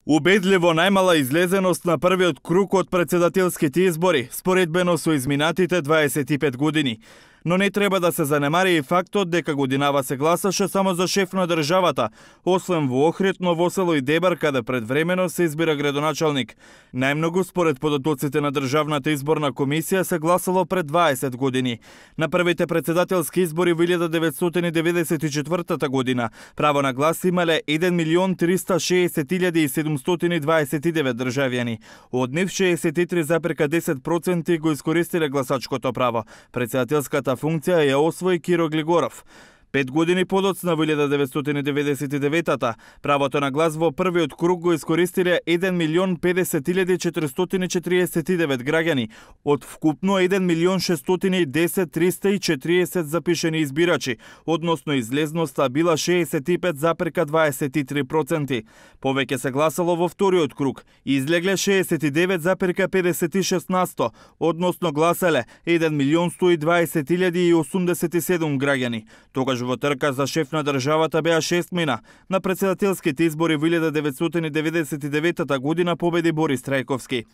Убедливо најмала излезеност на првиот круг од претседателските избори, споредбено со изминатите 25 години. Но не треба да се занемари и фактот дека годинава се гласаше само за шеф на државата, освен во Охрид, Ново Село и Дебар, каде предвремено се избира градоначалник. Најмногу според податоците на Државната изборна комисија се гласало пред 20 години. На првите претседателски избори во 1994 година право на глас имале 1.360.729 државјани. Од нив 63,10% го искористиле гласачкото право. Претседателската функција ја освои Киро Глигоров. 5 години подоцна во 1999-та, правото на глас во првиот круг го искористиле 1.050.449 граѓани, од вкупно 1.610.340 запишени избирачи, односно излезноста била 65,23%. Повеќе се гласало во вториот круг, излегле 69,56%, односно гласале 1.120.087 граѓани. Тогаш во трка за шеф на државата беа 6 мина. На претседателските избори во 1999 година победи Борис Трајковски.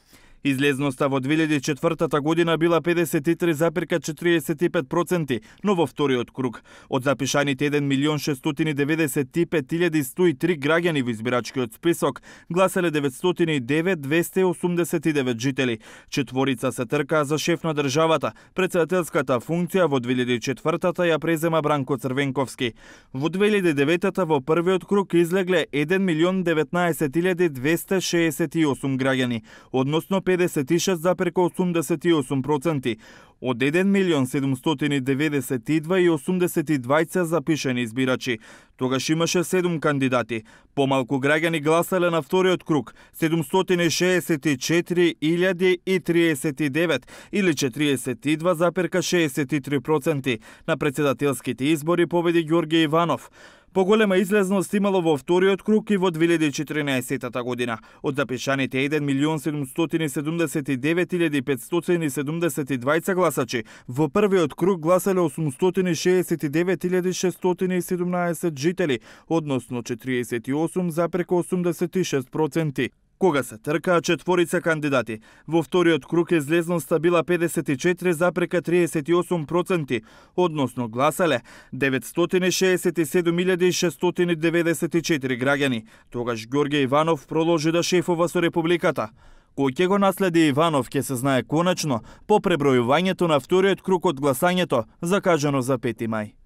Излезноста во 2004 година била 53,45%, но во вториот круг од запишаните 1.695.103 граѓани во избирачкиот список гласале 909.289 жители. Четворица се тркаа за шеф на државата. Претседателската функција во 2004-та ја презема Бранко Црвенковски. Во 2009-та во првиот круг излегле 1.019.268 граѓани, односно 56,88%, од 1.792.082 запишени избирачи. Тогаш имаше 7 кандидати. Помалку граѓани гласале на вториот круг, 764.039 или 42,63%. На претседателските избори победи Ѓорѓе Иванов. Поголема излезност имало во вториот круг и во 2014 година. Од запишаните 1.779.572 гласачи, во првиот круг гласале 869.617 жители, односно 48,86%. Кога се тркаа четворица кандидати, во вториот круг излезноста била 54,38%, односно гласале 967.694 граѓани. Тогаш Ѓорѓе Иванов продолжи да шефува со Републиката. Кој ќе го наследи Иванов ќе се знае конечно по пребројувањето на вториот круг од гласањето, закажано за 5 мај.